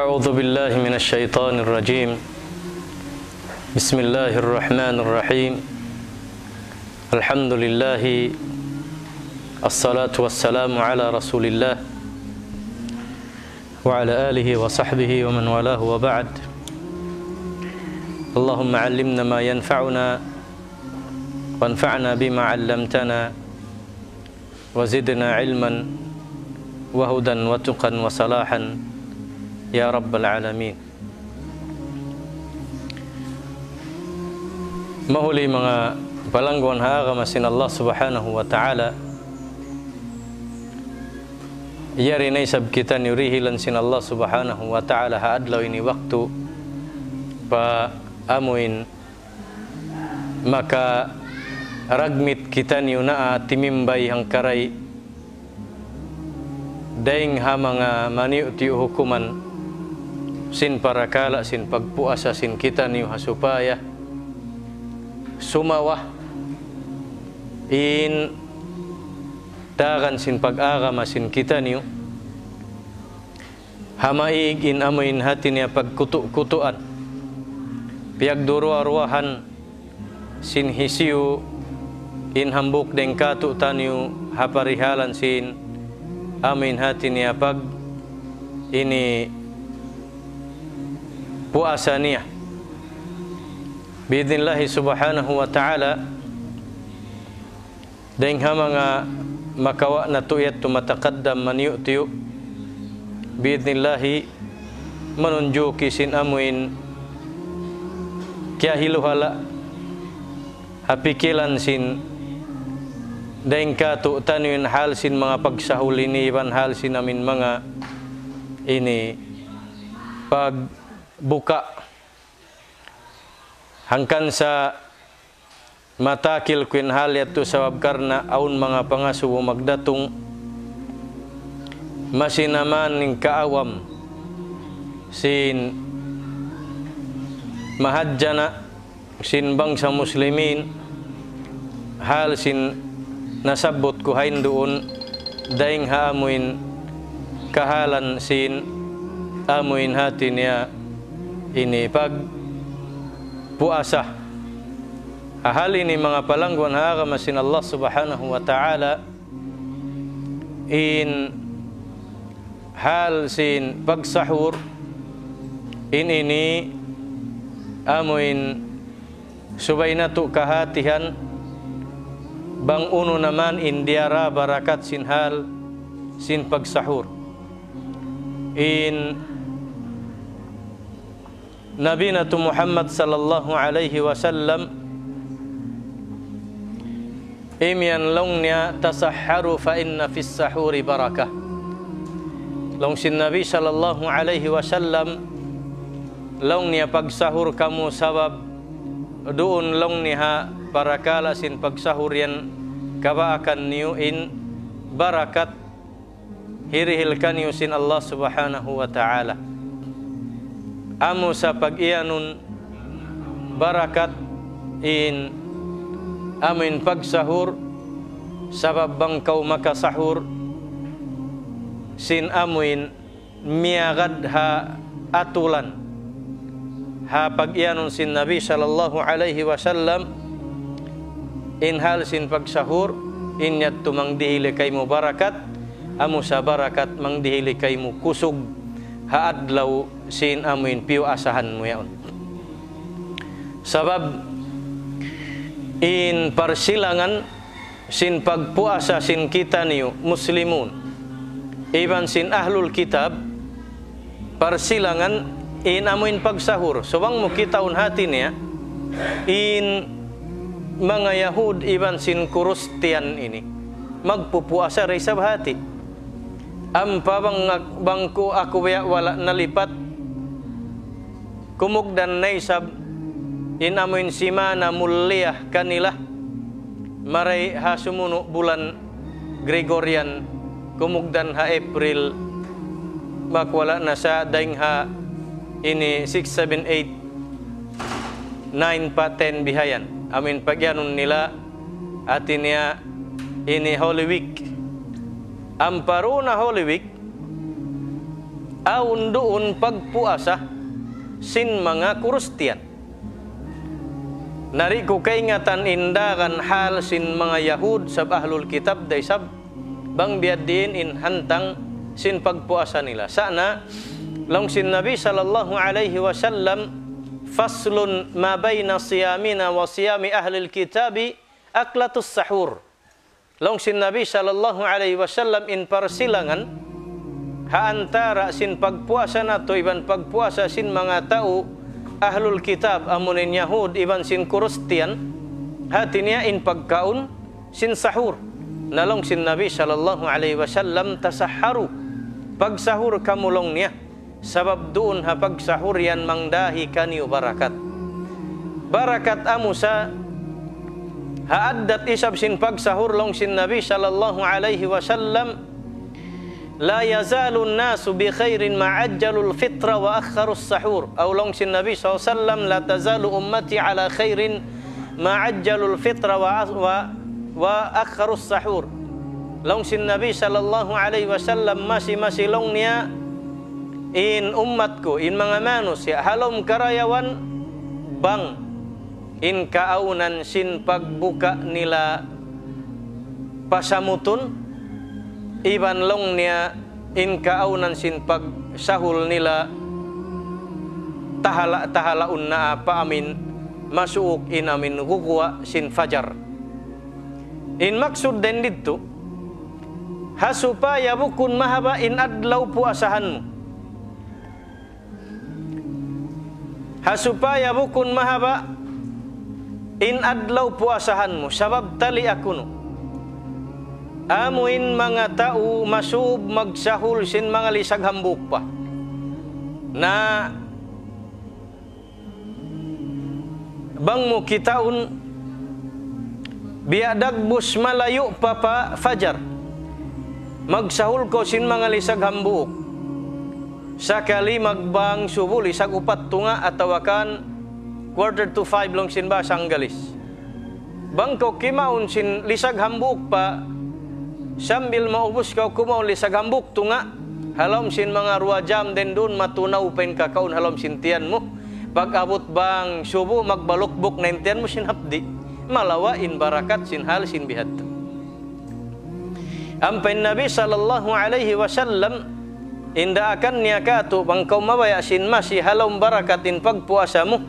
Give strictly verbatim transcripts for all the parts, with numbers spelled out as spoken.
أعوذ بالله من الشيطان الرجيم. بسم الله الرحمن الرحيم. الحمد لله. الصلاة والسلام على رسول الله وعلى آله وصحبه ومن والاه وبعد. اللهم علمنا ما ينفعنا وانفعنا بما علمتنا وزدنا علما وهدى وتقى وصلاحا يا رب العالمين. Mahuli manga palangguan ha agama sin Allah Subhanahu wa Ta'ala, yari na isab kitaniyu dihilan sin Allah Subhanahu wa Ta'ala ha adlaw ini waktu pa amuin makaragmit kitaniyu naa timimbay hangkaray dayn ha manga maniyu'-tiyu' hukuman sin parakala' sin pagpuasa sin kitaniyu ha supaya sumawa in tagan sin pag-agama sin kitaniyu ha maig in amuin hati niya pagkutu'-kutuan, piyagduruwa-ruwahan sin hisiyu in hambuuk dayn kātu'niyu ha parihalan sin amuin hati niya pag ini puasa niya. Bi'idhnillahi subhanahu wa ta'ala, dayn ha manga makawa' natu' yadtu mataqaddam maniyu'-tiyu', bi'idhnillahi, manunjuki sin amuin kiyahiluhala' ha pikilan sin dayn kātu'niyu in hal sin manga pagsahur ini iban hal sin amuin manga ini pagbuka. Hangkan sa matakil ku in hal yadtu sabab karna' awn manga pangasubu magdatung, masi na man in kaawam sin mahadjana' sin bangsa Muslimin, hal sin nasabbut ku hain duun, dayn ha amuin kahalan sin amuin hati niya ini pagpuasa. Ha hal ini manga palangguan ha agama sin Allah Subhanahu wa Ta'ala, in hal sin pagsahur, in ini amuin subay natu' kahatihan bang unu na man in diyara barakat sin hal sin pagsahur. In Nabi natu' Muhammad sallallahu alayhi wasallam, imiyan laung niya, تسحروا فإن في السحور بركة. Laung sin Nabi sallallahu alayhi wasallam, laung niya, pagsahur kamu sabab duun laung niya ha parakala' sin pagsahur yan kabaakan niyu in barakat hirihil kaniyu sin Allah Subhanahu wa Ta'ala. Amu sa pag-iyanun barakat in amuin pagsahur, sabab bang kaw makasahur sin amuin miyagad ha atulan, ha pag-iyanun sin Nabi sallallahu alayhi wasallam, in hal sin pagsahur, in yadtu mangdihili kaymu barakat, amu sa barakat mangdihili kaymu kusug ha adlaw sin amuin piyuasahan mu yaun. Sabab in parsilangan sin pagpuasa sin kitaniyu Muslimun iban sin Ahlul Kitab, parsilangan in amuin pagsahur. So bang mu kitaun hati niya, in manga Yahud iban sin Kristiyan ini magpupuasa da isab hati. Ampa bang, bang ku aku biya' wala' nalipat, kumugdan na isab in amuin simana mulia kanila, mari ha sumunu' bulan Gregorian, kumugdan ha April, bang wala' na sa dayn ha ini six, seven, eight, nine pa ten bihayan. Amuin pag-iyanun nila, hati niya ini Holy Week. Ampa duun ha Holy Week, Awn duun pagpuasa sin manga Kristiyan. Na di' ku kaingatan in daran hal sin manga Yahud sab Ahlul Kitab da isab bang biya' diin in hantang sin pagpuasa nila. Sa' na, laung sin Nabi sallallahu alayhi wasallam, فصل ما بين صيامنا وصيام أهل الكتاب أكلة السحور. Laung sin Nabi sallallahu alayhi wasallam, in parsilangan ha antara' sin pagpuasa natu' iban pagpuasa sin manga tau Ahlul Kitab, amu in Yahud iban sin Kristiyan, hati niya in pagkaun sin sahur. Na laung sin Nabi sallallahu alayhi wasallam, تسحروا, pagsahur kamu laung niya. Sabab duun ha pagsahur yan mangdahi kaniyu barakat. Barakat amu sa ha addat isab sin pagsahur, laung sin Nabi sallallahu alayhi wasallam, لا يزال الناس بخير ما عجلوا الفطر وأخروا السحور. Aw laung sin Nabi sallallahu alayhi wasallam, لا تزال أمتي على خير ما عجلوا الفطر و-، و-، وأخروا السحور. Laung sin Nabi sallallahu alayhi wasallam, masi-masi laung niya in ummat ku, in manga manusiya', ha lawm karayawan bang in kaawnan sin pagbuka nila pasamutun, iban laung niya in kaawnan sin pagsahur nila tahala'-tahala' unna pa amin masuuk in amin guguwa' sin fajar. In maksud dayn didtu, ha supaya bukun mahaba' in adlaw puasahan mu. Ha supaya bukun mahaba' in adlaw puasahan mu, sabab tali' aku nu. Amu in manga tau masub magsahur sin manga lisag hambuuk pa. Na bang mu kitaun, biya' dagbus malayu' pa pa fajar. Magsahur kaw sin manga lisag hambuuk. Sakali magbang subu lisag upat tunga' atawa kan quarter to five laung sin bahasa Anggalis. Bang kaw kimaun sin lisag hambuuk pa, sambil maubus kaw kumaun lisag hambuuk tunga', ha lawm sin manga duwa jam dayn duun matunaw pa in kakaun ha lawm sin tiyan mu. Pag-abut bang subu, magbalukbuk na in tiyan mu sin hapdi'. Malawa' in barakat sin hal sin bihadtu. Ampa in Nabi sallallahu alayhi wasallam, in daakan niya kātu', bang kaw mabaya' sin masi ha lawm barakat in pagpuasa mu,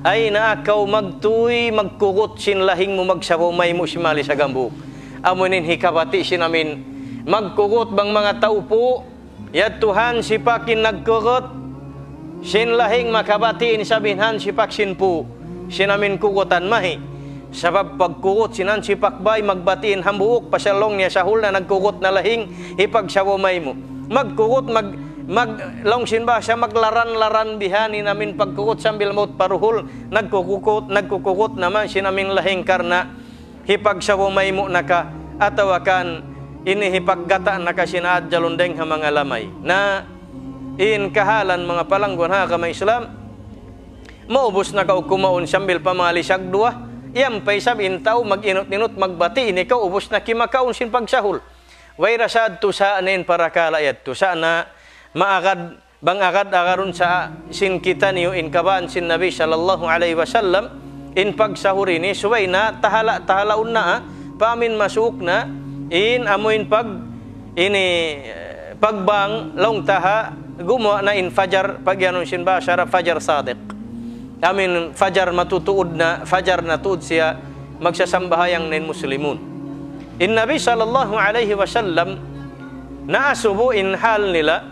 ay na kaw magtuy, magkugut sin lahing mu, magsabaw maymu' sin manga lisag hambuuk. Amu in hikabati' sin amin. Magkugut bang manga tau pū', yadtu hansipak in nagkugut sin lahing, makabati' in isab in hansipak sin pū'. Sin amin kugutan mahi. Sabab pagkugut sin hansipak bay, magbati' in hambuuk, pasal laung niya sahur na, nagkugut na lahing, hipagsabaw maymu'. Magkugut, mag-, mag-, laung sin bahasa, maglaran-laran bihan in amin pagkugut sambil maut pa duhul, nagkukugut, nagkukugut na man sin amin lahing karna' hipagsabaw maymu' na ka, atawa kan ini hipaggata' na ka sin adjalun dayng ha manga lamay. Na in kahalan manga palangguan ha agama Islam, maubus na kaw kumaun sambil pa manga lisag duwa, yan pa isab in tau mag-inut-inut magbati', ini kaw ubus na kimakaun sin pagsahur. Way da sa adtu sa na in parakala' yadtu, sa' na maagad bang agad-agarun sa sin kitaniyu in kabaan sin Nabi sallallahu alayhi wasallam, in pagsahur ini, subay na tahala'-tahala' unna, pa amin masuuk na, in amu in pag-, ini, eh, pagbang laung ta ha, gumuwa' na in fajar, pag-iyanun sin bahasa Arab, fajar sadiq. Amin fajar matutuud na, fajar na tuud siya, magsasambahayang na in muslimun. In Nabi sallallahu alayhi wasallam, naasubu in hal nila,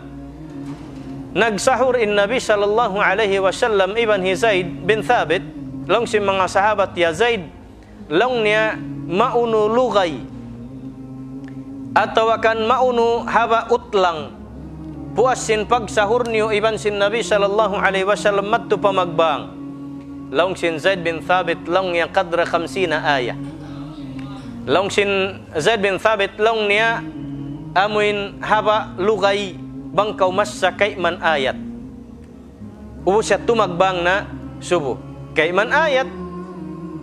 nagsahur in Nabi sallallahu alayhi wasallam iban hi Zaid bin Thabit, laung sin manga sahabat, "Ya Zaid," laung niya, "maunu lugay, atawa kan maunu haba' utlang, puas sin pagsahur niyu iban sin Nabi sallallahu alayhi wasallam madtu pa magbang?" Laung sin Zaid bin Thabit, laung niya, "قدر خمسين آية." Laung sin Zaid bin Thabit, laung niya, "Amuin haba' lugay bang kaw massa kayman ayat." Ubus yadtu magbang na subu. Kayman ayat,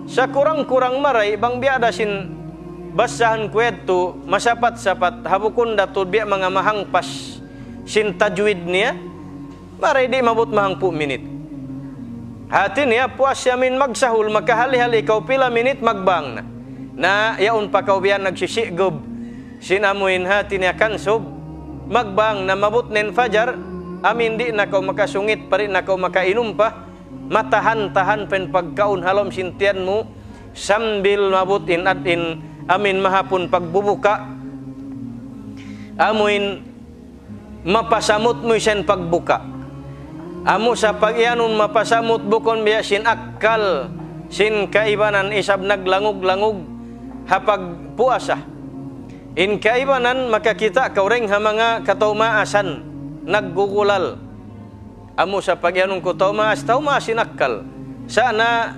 sakurang-kurang maray bang biya' da sin basahan ku yadtu, masapat-sapat, ha bukun da tuud biya' manga mahangpas sin tajwid niya, maray di' maabut mahangpu' minit. Hati niya, puas siya amin magsahul, makahali-hali kaw pila minit magbang na. Na, yaun pa kaw biya' nagsisi'gub. Sin amuin hati niya kansub, magbang na maabut na in fajar, amin di' na kaw makasungit, pa di' na kaw makainum pa, matahan-tahan pa in pagkaun ha lawm sin tiyan mu, sambil maabut in ad-, in amin mahapun pagbubuka. Amuin mapasamut mu isab in pagbuka. Amu sa pag-iyanun mapasamut bukun biya' sin akkal, sin kaibanan isab naglangug-langug ha pagpuasa. In kaibanan makakita' kaw dayn ha manga kataumaasan, naggugulal. Amu sa pag-iyanun ku taumaas, taumaas in akkal. Sa' na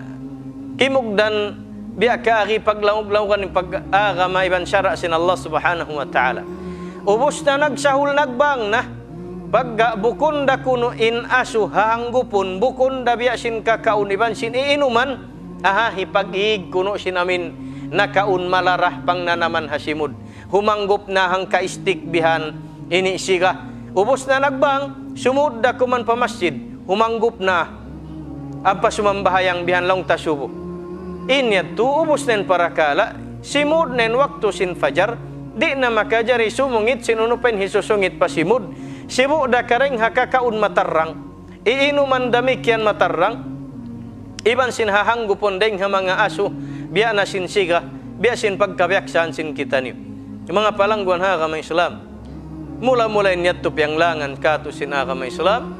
kimugdan biya' kaagi paglangug-langugan in pag-agama iban sara' sin Allah Subhanahu wa Ta'ala. Ubus na nagsahul nagbang na. Pagga bukun da kunu' in asu hahanggupun, bukun da biya' sin kakaun iban sin iinuman, aha, hipag-ig kunu' sin amin nakaun malarah pangnanaman ha simud. Humanggup na hangka istik bihan ini siga. Ubus na nagbang, sumud da kuman pa masjid, humanggup na. Ampa sumambahayang bihan laung ta subu. In yadtu ubus na in parakala', simud na in waktu sin fajar, di' na makajari sumungit sin unu pa in hisusungit pa simud. Sibu' da karaing ha kakaun matarrang, iinuman damikkiyan matarrang, iban sin hahanggupun dayn ha manga asu, biya' na sin siga, biya' sin pagkabiyaksahan sin kitaniyu. Manga palangguan ha agama Islam. Mula-mula in yadtu piyanglangan katu' sin agama Islam,